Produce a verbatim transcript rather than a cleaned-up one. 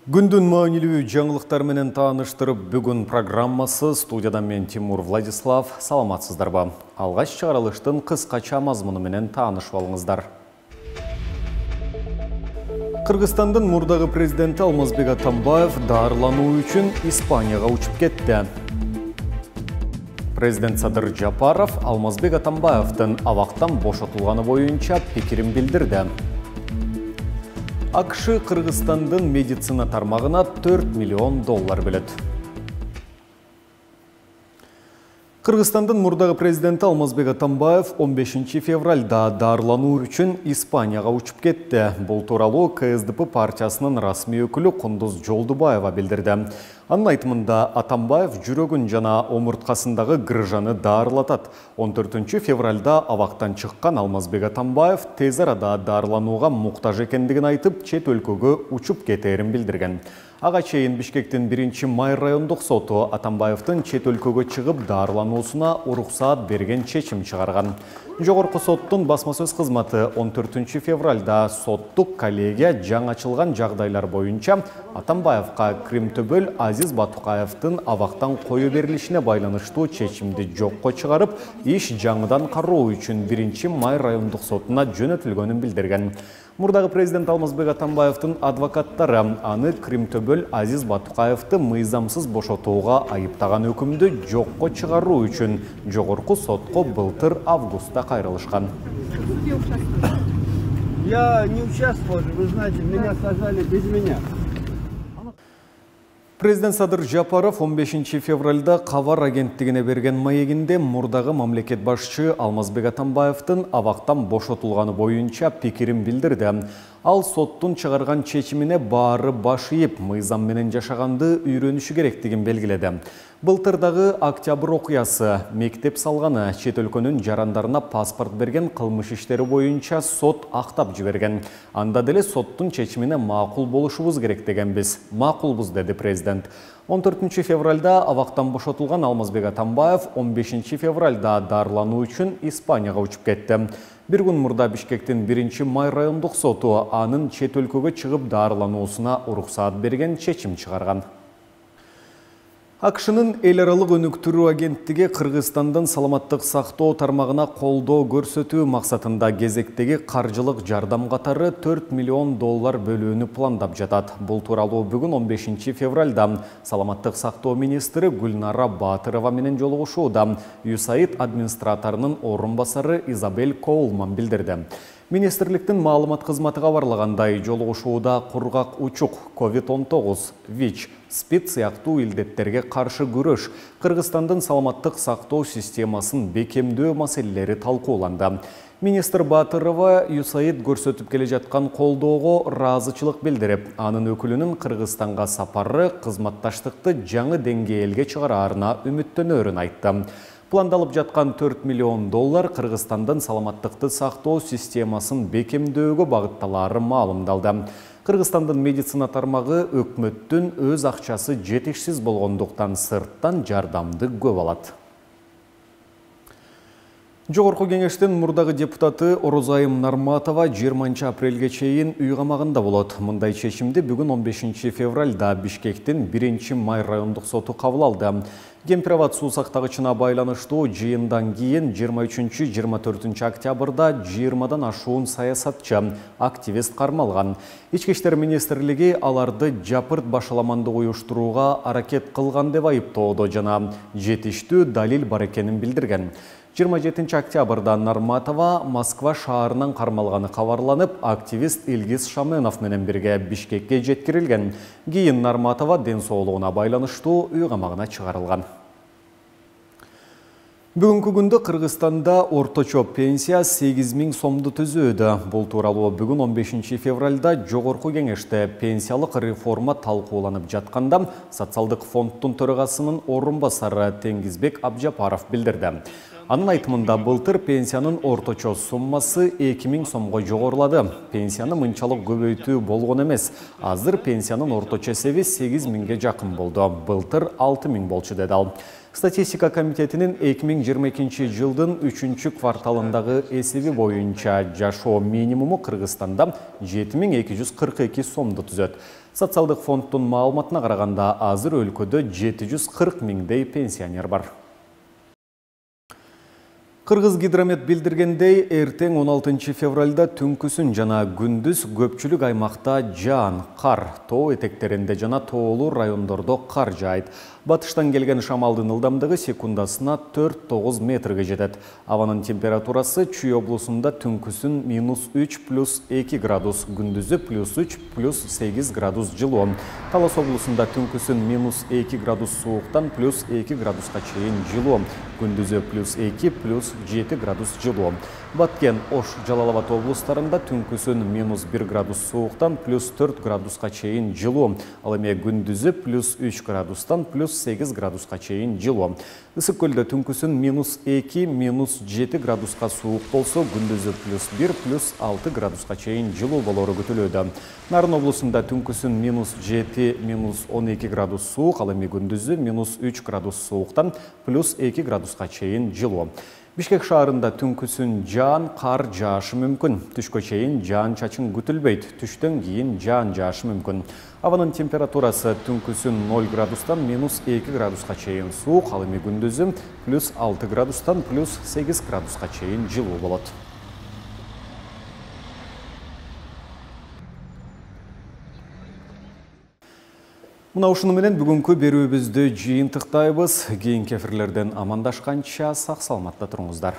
Күндүн маанилүү жаңылыктар менен тааныштырып, бүгүн программасы студияда мен Тимур Владислав. Саламатсыздарбы? Алгач чыгарылыштын кыскача мазмуну менен таанышып алыңыздар. Кыргызстандын мурдагы президенти Алмазбек Атамбаев дарылануу үчүн Испанияга учуп кетти. Президент Садыр Жапаров Алмазбек Атамбаевдин абактан бошотулганы боюнча пикирин билдирди. АКШ Кыргызстандын медицина тармагына төрт миллион доллар бөлөт. Кыргызстандын мурдагы президенти Алмазбек Атамбаев он бешинчи февралда дарылануу үчүн Испанияга учуп кетти. Бул тууралуу КСДП партиясынын расмий өкүлү Кундуз Жолдубаева билдирди. Анын айтымында Атамбаев жүрөгүн жана омурткасындагы грыжаны дарылатат. он төртүнчү февралда абактан чыккан Алмазбек Атамбаев тез арада дарыланууга муктаж экендигин айтып, чет өлкөгө учуп кетээрин билдирген. Ага чейин Бишкектин биринчи май райондук соту Атамбаевдин чет өлкөгө чыгып дарылануусуна уруксаат берген чечим чыгарган. Жогорку соттун басма сөз кызматы он төртүнчү февралда соттук коллегия жаңы ачылган жагдайлар боюнча Атамбаевка Кримтөбөл Азиз Батукаевдин абактан кое берилишине байланыштуу чечимди жокко чыгарып, иш жаңыдан кароо үчүн биринчи май райондук сотуна жөнөтүлгөнүн билдирген. Мурдагы президент Алмазбек Атамбаевдин адвокаттары аны Кримтөбөл Азиз Батукаевди мыйзамсыз бошотууга айыптаган өкүмдү жокко чыгаруу үчүн жогорку сотко былтыр августта кайрылышкан. Я не участвовал, вы знаете, меня сажали без меня. Президент Садыр Жапаров он бешинчи февралда Кабар агенттигине берген маегинде мурдагы мамлекет башчы Алмазбек Атамбаевдин абактан бошотулганы боюнча пикирин билдирди. Ал соттун чыгарган чечимине баары баш ийип, мыйзам менен жашаганды үйрөнүшү керектигин белгиледи. Былтырдагы октябрь окуясы, мектеп салганы, чет өлкөнүн жарандарына паспорт берген кылмыш иштери боюнча сот актап жиберген. Анда деле соттун чечимине макул болушубуз керек дегенбиз. Макулбуз, деди президент. он төртүнчү февралда абактан бошотулган Алмазбек Атамбаев он бешинчи февралда дарылануу үчүн Испанияга учуп кетти. Бир күн мурда Бишкектин биринчи май райондук соту анын чет өлкөгө чыгып дарылануусуна уруксаат берген чечим чыгарган. АКШнын эл аралык өнүктүрүү агенттиги Кыргызстандын саламаттык сактоо тармагына колдоо көрсөтүү максатында кезектеги каржылык жардам катары төрт миллион доллар бөлүүнү пландап жатат. Бул тууралуу бүгүн он бешинчи февралда саламаттык сактоо министри Гүлнара Батырова менен жолугушууда ЮСАИД администраторунун орун басары Изабель Коулман билдирди. Министрликтин маалымат кызматы кабарлагандай, жолугушууда кургак учук, ковид он тогуз, ВИЧ, СПИД сыяктуу илдеттерге каршы күрөш, Кыргызстандын саламаттык сактоо системасын бекемдөө маселелери талкууланды. Министр Батырова ЮСАИД көрсөтүп келе жаткан колдоого ыраазычылык билдирип, анын өкүлүнүн Кыргызстанга сапары кызматташтыкты жаңы деңгээлге чыгараарына үмүттөнөрүн айтты. Пландалып жаткан төрт миллион доллар Кыргызстандын саламаттыкты сактоо системасын бекемдөөгө багытталары маалымдалды. Кыргызстандын медицина тармагы өкмөттүн өз акчасы жетишсиз болгондуктан сырттан жардамды көп алат. Жогорку кеңештин мурдагы депутаты Орозайым Нарматова жыйырманчы апрелге чейин үй камагында болот. Мындай чечимди бүгүн он бешинчи февралда Бишкектин биринчи май райондук соту кабыл алды. Кемпирабад суу сактагычына байланыштуу жыйындан кийин жыйырма үчүнчү — жыйырма төртүнчү октябрда жыйырмадан ашуун саясатчы, активист кармалган. Ички иштер министрлиги аларды жапырт башаламандык уюштурууга аракет кылган деп айыптоодо жана жетиштүү далил бар экенин билдирген. жыйырма жетинчи октябрда Нарматова Москва шаарынан кармалганы кабарланып, активист Илгиз Шаменов менен бирге Бишкекке жеткирилген. Кийин Нарматова ден соолугуна байланыштуу үй камагына чыгарылган. Бүгүнкү күндө Кыргызстанда орточо пенсия сегиз миң сомду түзүүдө. Бул тууралуу бүгүн он бешинчи февралда жогорку кеңеште пенсиялык реформа талкууланып жатканда социалдык фонддун төрагасынын орун басары Теңизбек Абжапаров билдирди. Анын айтымында былтыр пенсиянын орточо суммасы эки миң сомго жогорулады. Пенсияны мынчалык көбөйтүү болгон эмес. Азыр пенсиянын орточо эсеби сегиз миңге жакын болду. Былтыр алты миң болчу, деди ал. Статистика комитетинин эки миң жыйырма экинчи жылдын үчүнчү кварталындагы эсеби боюнча жашоо минимуму Кыргызстанда жети миң эки жүз кырк эки сомду түзөт. Социалдык фонддун маалыматына караганда азыр өлкөдө жети жүз кырк миңдей пенсионер бар. Кыргызгидромет билдиргендей, эртең он алтынчы февралда түнкүсүн жана күндүз көпчүлүк аймакта жаан, кар, тоо этектеринде жана тоолуу райондордо кар жаайт. Батыштан келген шамалдын ылдамдыгы секундасына төрт тогуз метрге жетет. Абанын температурасы Чүй облусунда түнкүсүн минус үч плюс эки градус, күндүзү плюс үч плюс сегиз градус жылуу. Талас облусунда түнкүсүн минус эки градус сууктан плюс эки градуска чейин жылуу, күндүзү плюс эки плюс жети градус жылуу. Баткен, Ош, Жалал-Абад облустарында түнкүсүн минус бир градус сууктан плюс төрт градуска чейин жылуу, ал эми күндүзү плюс үч градустан плюс сегиз градуска чейин жылуу. Ысык көлдө түнкүсүн минус эки минус жети градуска суук болсо, күндүзү плюс бир плюс алты градуска чейин жылуу болору күтүлүүдө. Нарын облусунда түнкүсүн минус жети минус он эки градус суук, ал эми күндүзү минус үч градус сууктан плюс эки градуска чейин жылуу. Бишкек шаарында түнкүсүн жаан, кар жаашы мүмкүн. Түшкө чейин жаан чачын күтүлбөйт. Түштөн кийин жаан жаашы мүмкүн. Абанын температурасы түнкүсүн ноль градустан минус эки градуска чейин суук, ал эми күндүзү плюс алты градустан плюс сегиз градуска чейин жылуу болот. Мына ушуну менен бүгүнкү берүүбүздү жыйынтыктайбыз. Кийинки эфирлерден амандашканча сак саламатта туруңуздар.